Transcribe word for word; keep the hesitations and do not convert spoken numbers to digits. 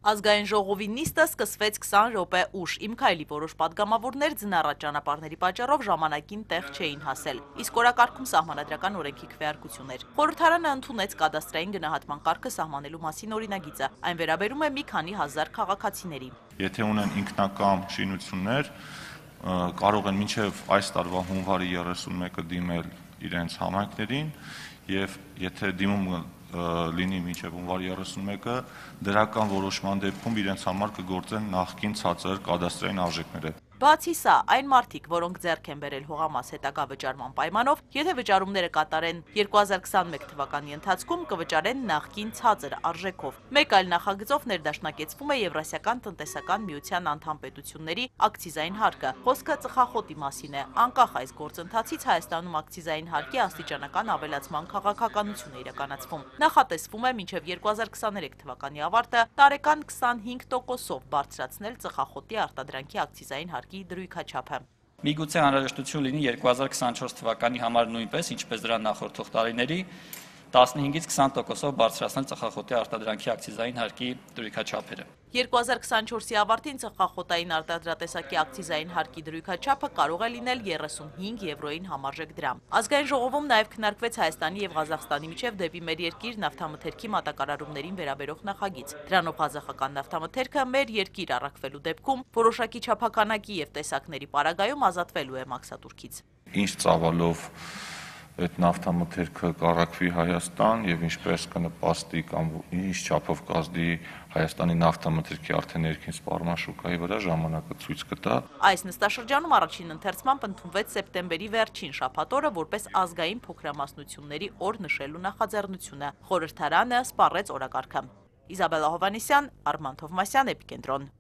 Ազգային ժողովի նիստը սկսվեց քսան րոպե ուշ, իմ քայլի որոշ պատգամավորներ ձնառատ ճանապարհների պատճառով ժամանակին տեղ չէին հասել, իսկ օրակարգում սահմանադրական օրենքի քվեարկություն էր։ Խորհրդարանը ընդունեց կադաստրային գնահատման կարգը սահմանելու մասին օրինագիծը, այն վերաբերում է մի քանի հազար քաղաքացիների։ Եթե ունեն ինքնակամ շինություններ, կարող են մինչև այս տարվա հունվարի երեսունմեկը դիմել իրենց համայնքներին, եւ եթե դիմումը լինի մինչև հունվարի երեսունմեկը, դրական որոշման դեպքում իրենց համար կգործեն նախկին ցածր կադաստրային արժեքները։ Բացի սա, այն մարդիկ, որոնք ձեռք են բերել հողամաս հետագա վճարման պայմանով, եթե վճարումները կատարեն երկու հազար քսանմեկ թվականի ընթացքում, կվճարեն նախկին ցածր արժեքով։ Մեկ այլ նախագծով ներդաշնակեցվում է Եվրասիական տնտեսական միության անդամ պետությունների ակցիզային հարկը։ Խոսքը ծխախոտի մասին է։ Անկախ այս գործընթացից Հայաստանում ակցիզային հարկի աստիճանական ավելացման քաղաքականություն է իրականացվում։ Նախատեսվում է մինչև երկու հազար քսաներեք թվականի ավարտը տարեկան քսանհինգ տոկոսով բարձրացնել ծխախոտի արտադրանքի ակցիզային հարկի դրույքաչափը։ Միգուցե անհրաժեշտություն լինի երկու հազար քսանչորս թվականի համար նույնպես, ինչպես դրան նախորդող տարիների, տասնհինգից քսան տոկոսով բարձրացնել ծխախոտի արտադրանքի ակցիզային հարկի դրույքաչափերը։ երկու հազար քսանչորսի ավարտին ծխախոտային արտադրատեսակի ակցիզային հարկի դրույքաչափը կարող է լինել երեսունհինգ եվրոյին համարժեք դրամ։ Ազգային ժողովում նաև քննարկվեց Հայաստանի եւ Ղազախստանի միջև դեպի մեր երկիր նավթամթերքի մատակարարումներին վերաբերող նախագիծ։ Դրանով ղազախական նավթամթերքը մեր երկիր առաքվելու դեպքում որոշակի չափականակի եւ տեսակների պարագայում ազատվելու է մաքսատուրքից։ Ինչ ծավալով այդ նավթամթերքը կառաքվի Հայաստան եւ ինչպես կնպաստի կամ ինչ չափով կազդի Հայաստանի նավթամթերքի արդեն ներքին սպառման շուկայի վրա, ժամանակը ցույց կտա։ Այս նստաշրջանում առաջին ընթերցմամբ ընդունվեց սեպտեմբերի վերջին շաբաթօրը որպես ազգային փոքրամասնությունների օր նշելու նախաձեռնությունը։ Խորհրդարանը սպառեց օրակարգը։ Իզաբելլա Հովհաննիսյան, Արման Թովմասյան, Էպիկենտրոն։